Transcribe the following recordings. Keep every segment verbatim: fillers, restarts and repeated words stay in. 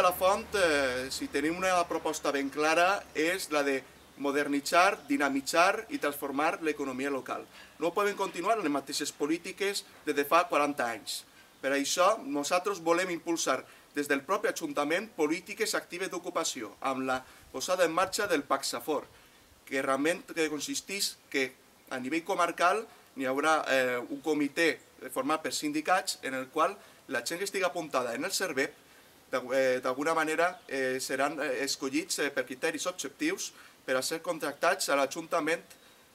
la Font, eh, si tenim una proposta ben clara, és la de modernitzar, dinamitzar i transformar l'economia local. No podem continuar les mateixes polítiques des de fa quaranta anys. Per això, nosaltres volem impulsar des del propi Ajuntament polítiques actives d'ocupació, amb la posada en marxa del Paxafor, que realment consisteix que a nivell comarcal hi haurà eh, un comitè format per sindicats en el qual la gent que estigui apuntada en el Servep d'alguna manera eh, seran escollits eh, per criteris objectius per a ser contractats a l'Ajuntament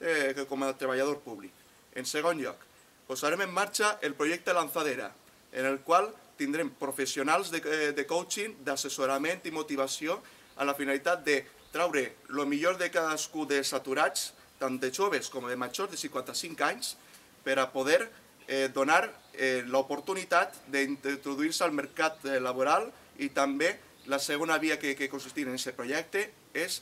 eh, com a treballador públic. En segon lloc, posarem en marxa el projecte Lanzadera, en el qual tindrem professionals de, de coaching, d'assessorament i motivació amb la finalitat de traure el millor de cadascú dels aturats, tant de joves com de majors de cinquanta-cinc anys, per a poder eh, donar eh, l'oportunitat d'introduir-se al mercat eh, laboral i també la segona via que, que consistirà en aquest projecte és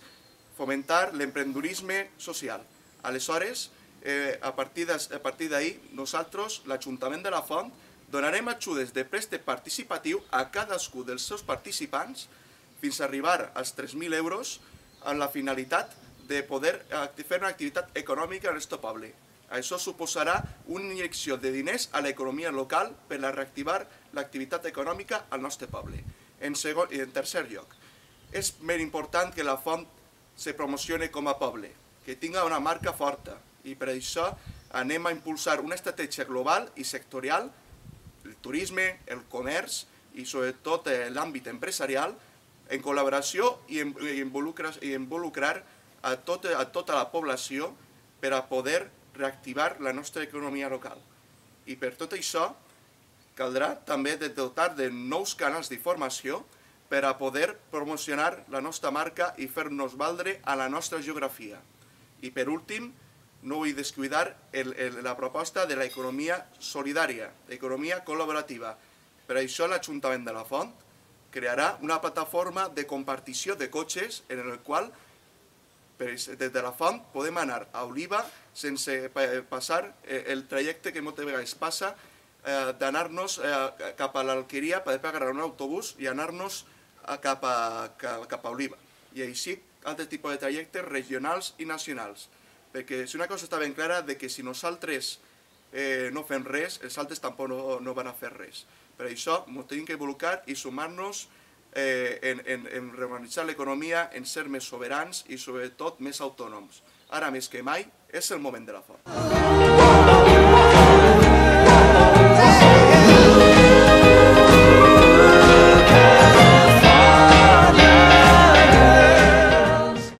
fomentar l'emprendedorisme social. Aleshores, eh, a partir d'ahir, nosaltres, l'Ajuntament de la Font, donarem ajudes de préstec participatiu a cadascú dels seus participants fins a arribar als tres mil euros amb la finalitat de poder fer una activitat econòmica en el nostre poble. Això suposarà una injecció de diners a l'economia local per a reactivar l'activitat econòmica al nostre poble. En, segon, en tercer lloc, és més important que la Font se promocione com a poble, que tingui una marca forta, i per això anem a impulsar una estratègia global i sectorial, el turisme, el comerç i sobretot l'àmbit empresarial, en col·laboració i involucrar, i involucrar a, tot, a tota la població per a poder reactivar la nostra economia local. I per tot això caldrà també de dotar de nous canals d'informació per a poder promocionar la nostra marca i fer-nos valdre a la nostra geografia. I per últim, no vull descuidar el, el, la proposta de l'economia solidària, l'economia col·laborativa. Per això l'Ajuntament de la Font crearà una plataforma de compartició de cotxes en el qual des de la Font podem anar a Oliva sense passar el trajecte que moltes vegades passa d'anar-nos cap a l'Alqueria per agarrar un autobús i anar-nos cap a Oliva. I així altres tipus de trajectes regionals i nacionals. Perquè si una cosa està ben clara que si nosaltres no fem res, els altres tampoc no van a fer res. Per això ens tenim que involucrar i sumar-nos en reorganitzar l'economia, en ser més soberans i sobretot més autònoms. Ara més que mai és el moment de la Font.